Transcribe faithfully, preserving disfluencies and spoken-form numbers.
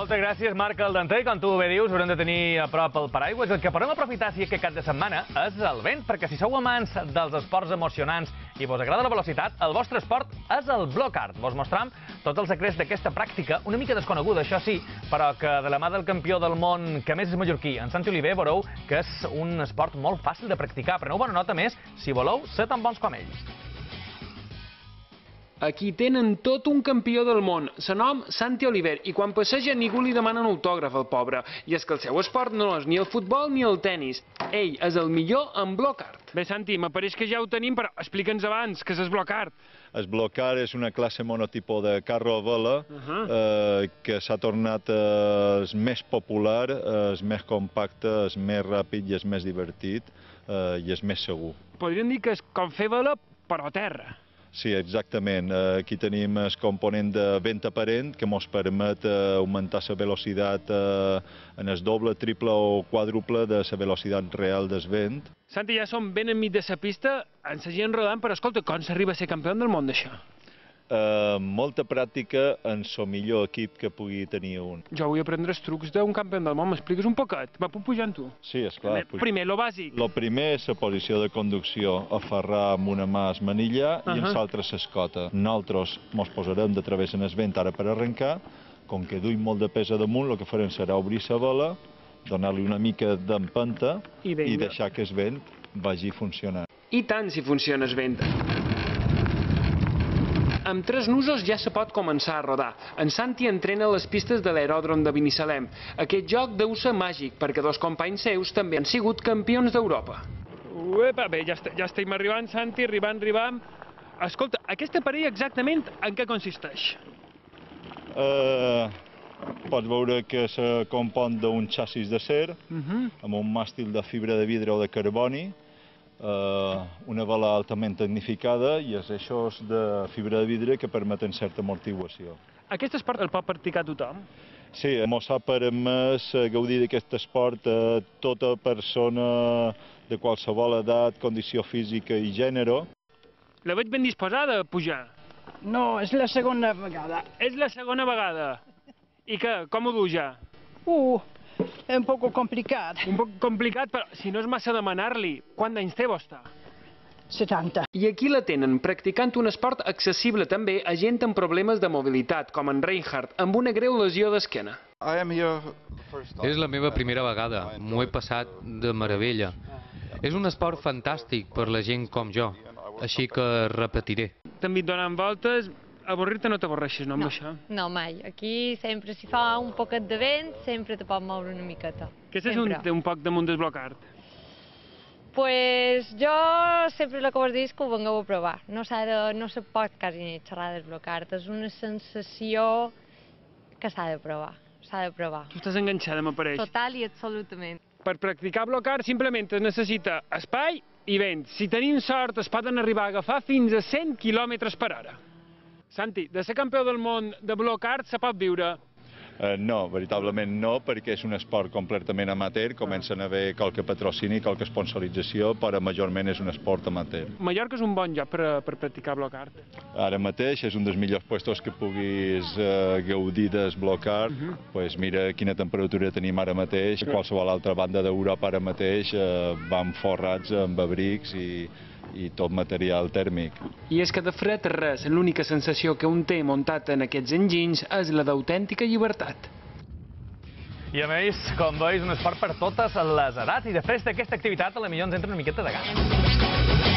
Moltes gràcies, Marc Aldanter. Com tu bé dius, haurem de tenir a prop el paraigües. El que podem aprofitar, si és que cap de setmana, és el vent, perquè si sou amants dels esports emocionants i vos agrada la velocitat, el vostre esport és el block-art. Vos mostram tots els secrets d'aquesta pràctica, una mica desconeguda, això sí, però que de la mà del campió del món, que més és mallorquí, en Santi Oliver, veureu que és un esport molt fàcil de practicar. Preneu bona nota més, si voleu ser tan bons com ells. Aquí tenen tot un campió del món, se nom Santi Oliver, i quan passeja ningú li demana un autògraf al pobre. I és que el seu esport no és ni el futbol ni el tennis. Ell és el millor en block art. Bé, Santi, m'apareix que ja ho tenim, però explica'ns abans, què és el block art? El block art és una classe monotipó de carro a vela eh, que s'ha tornat eh, el més popular, el més compacte, el més ràpid i el més divertit eh, i el més segur. Podríem dir que és com fer vela, però a terra. Sí, exactament. Aquí tenim el component de vent aparent que ens permet augmentar la velocitat en el doble, triple o quàdruple de la velocitat real del vent. Santi, ja som ben enmig de la pista, ens seguien rodant, però escolta, com s'arriba a ser campió del món d'això? Uh, molta pràctica en el millor equip que pugui tenir un. Jo vull aprendre els trucs d'un campió del món, m'expliques un poquet? Va, puc pujar amb tu? Sí, esclar. Primer, primer, lo bàsic. Lo primer és la posició de conducció, aferrar amb una mà el manillar uh -huh. i amb l'altra l'escota. Nosaltres ens posarem de través en el vent ara per arrencar, com que duim molt de pes a damunt, el que farem serà obrir la vela, donar-li una mica d'empenta i, i deixar que el vent vagi funcionant. I tant si funciona el vent. Amb tres nusos ja se pot començar a rodar. En Santi entrena a les pistes de l'aeròdrom de Binissalem. Aquest joc deu ser màgic, perquè dos companys seus també han sigut campions d'Europa. Uepa, bé, ja, est ja estem arribant, Santi, arribant, arribant. Escolta, aquest aparell exactament en què consisteix? Uh, pots veure que se compon d'un xassis d'acer, uh -huh. amb un màstil de fibra de vidre o de carboni, Uh, una vela altament tecnificada i els eixos de fibra de vidre que permeten certa amortiguació. Aquest esport el pot practicar tothom? Sí, ens ha permès gaudir d'aquest esport a tota persona de qualsevol edat, condició física i gènere. La veig ben disposada a pujar. No, és la segona vegada. És la segona vegada. I què, com ho du ja? Uh, és un poc complicat. Un poc complicat, però si no és massa demanar-li, quant d'anys té vostè? setanta. I aquí la tenen, practicant un esport accessible també a gent amb problemes de mobilitat, com en Reinhardt, amb una greu lesió d'esquena. És la meva primera vegada, m'ho he passat de meravella. És un esport fantàstic per la gent com jo, així que repetiré. També donant voltes, avorrir-te no t'avorreixes, no, amb no, això? No, mai. Aquí sempre si fa un poquet de vent, sempre te pot moure una miqueta. Què és un, un poc damunt del block art? Pues jo sempre el que vos dic és que ho vengueu a provar. No, de, no se pot quasi ni xerrar del block art. És una sensació que s'ha de provar. S'ha de provar. Tu estàs enganxada, m'apareix. Total i absolutament. Per practicar block art simplement es necessita espai i vent. Si tenim sort es poden arribar a agafar fins a cent quilòmetres per hora. Santi, de ser campió del món de block art se pot viure? Uh, no, veritablement no, perquè és un esport completament amateur, comencen a haver qualque patrocini, qualque sponsorització, però majorment és un esport amateur. Mallorca és un bon lloc per, per practicar block art. Ara mateix és un dels millors puestos que puguis uh, gaudir del block art. Uh -huh. Pues mira quina temperatura tenim ara mateix. Qualsevol altra banda d'Europa ara mateix uh, van forrats amb abrics i i tot material tèrmic. I és que de fred res, l'única sensació que un té muntat en aquests enginys és la d'autèntica llibertat. I a més, com veus, un esport per totes les edats i després d'aquesta activitat a la millor ens entra una miqueta de gana.